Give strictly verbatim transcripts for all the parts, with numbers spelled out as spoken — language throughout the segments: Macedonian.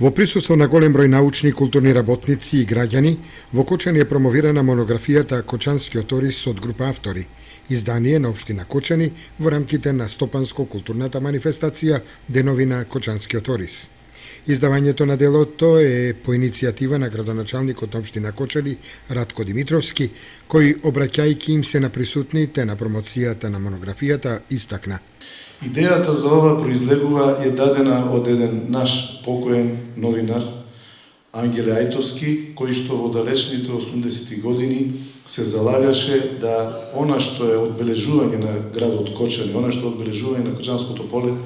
Во присуство на голем број научни и културни работници и граѓани, во Кочани е промовирана монографијата Кочанскиот орис од група автори, издание на општина Кочани во рамките на стопанско-културната манифестација Денови на Кочанскиот орис. Издавањето на делото е по иницијатива на градоначалникот на општина Кочани Радко Димитровски, кој, обраќајќи им се на присутните на промоцијата на монографијата, истакна: идејата за ова произлегува е дадена од еден наш покоен новинар, Ангеле Ајтовски, кој што во далечните осумдесети години се залагаше да она што е одбележување на градот Кочани, она што е одбележување на Кочанското поле,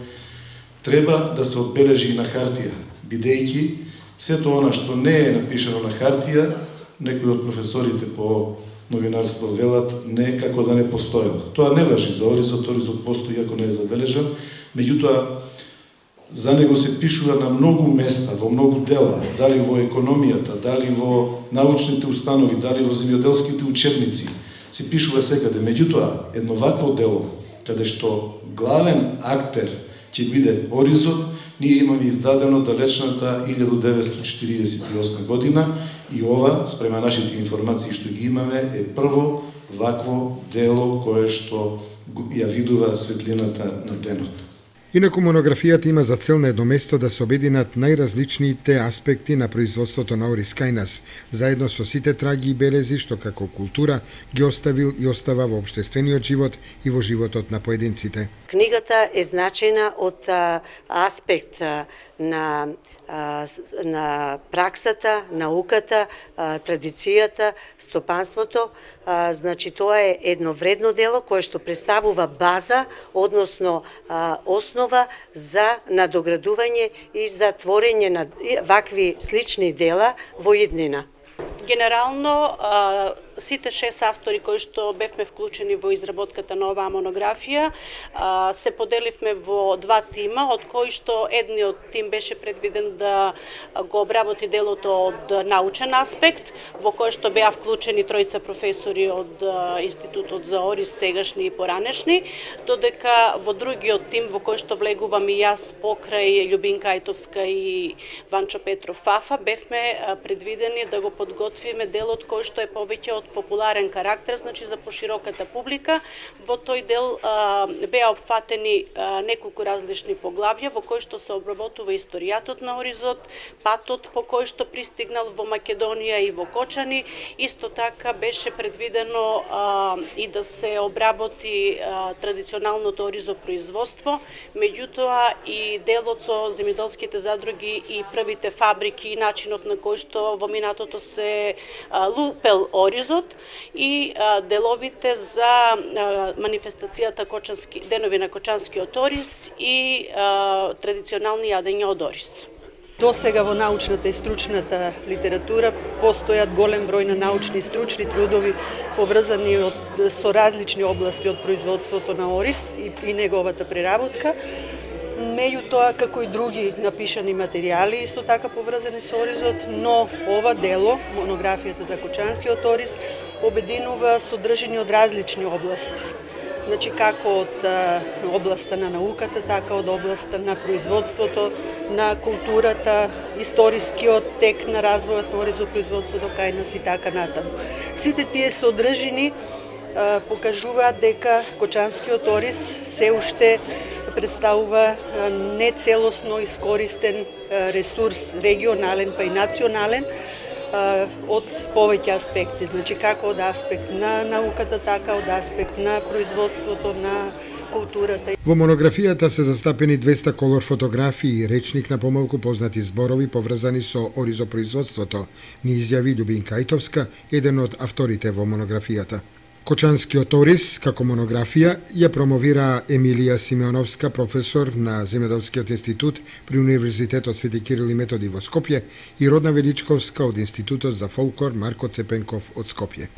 треба да се одбележи на хартија, бидејќи сето она што не е напишано на хартија, некои од професорите по новинарство велат не како да не постоело. Тоа не важи за оризот, оризот постои иако не е забележан, меѓутоа за него се пишува на многу места, во многу дела, дали во економијата, дали во научните установи, дали во земјоделските учебници, се пишува секаде. Меѓутоа, едно вакво дело, каде што главен актер ќе биде оризот, ние имаме издадено далечната илјада деветстотини четиридесет и осма година и ова, спрема нашите информации што ги имаме, е прво вакво дело кое што ја видува светлината на денот. Инаку монографијата има за цел на едно место да се обединат најразличните аспекти на производството на орис кај нас, заедно со сите траги и белези што како култура ги оставил и остава во општествениот живот и во животот на поединците. Книгата е значајна од а, аспект а, на на праксата, науката, традицијата, стопанството. Значи, тоа е едно вредно дело кое што представува база, односно основа за надоградување и за творење на вакви слични дела во иднина. Генерално, сите шест автори кои што бевме вклучени во изработката на оваа монографија се поделивме во два тима, од кои што едниот тим беше предвиден да го обработи делото од научен аспект, во кој што беа вклучени тројца професори од Институтот за орис, сегашни и поранешни, додека во другиот тим во кој што влегувам и јас покрај Љубинка Ајтовска и Ванчо Петров Фафа, бевме предвидени да го подготвиме делот кој што е повеќе од популарен карактер, значи за пошироката публика. Во тој дел а, беа опфатени а, неколку различни поглавја во кои што се обработува историјатот на оризот, патот по кој што пристигнал во Македонија и во Кочани. Исто така беше предвидено а, и да се обработи а, традиционалното оризопроизводство, меѓутоа и делот со земјоделските задруги и првите фабрики и начинот на кој што во минатото се а, лупел оризот и а, деловите за а, манифестацијата Кочански, Денови на Кочанскиот орис и а, традиционални јадења од орис. До сега во научната и стручната литература постојат голем број на научни и стручни трудови поврзани од, со различни области од производството на орис и, и неговата преработка. Меѓутоа, како и други напишани материјали, исто така поврзани со оризот, но ова дело, монографијата за Кочанскиот орис, обединува содржини од различни области. Значи, како од а, областа на науката, така од областа на производството, на културата, историскиот тек на развојот на оризопроизводството кај нас и така натаму. Сите тие содржини а, покажуваат дека Кочанскиот орис се уште представува нецелосно искористен ресурс, регионален па и национален, од повеќе аспекти, значи како од аспект на науката, така од аспект на производството, на културата. Во монографијата се застапени двеста колор фотографии и речник на помалку познати зборови поврзани со оризопроизводството, ни изјави Љубинка Ајтовска, еден од авторите во монографијата. Кочанскиот орис, како монографија, ја промовира Емилија Симеоновска, професор на Земјоделскиот институт при Универзитетот Свети Кирил и Методи во Скопје, и Родна Величковска од Институтот за фолклор Марко Цепенков од Скопје.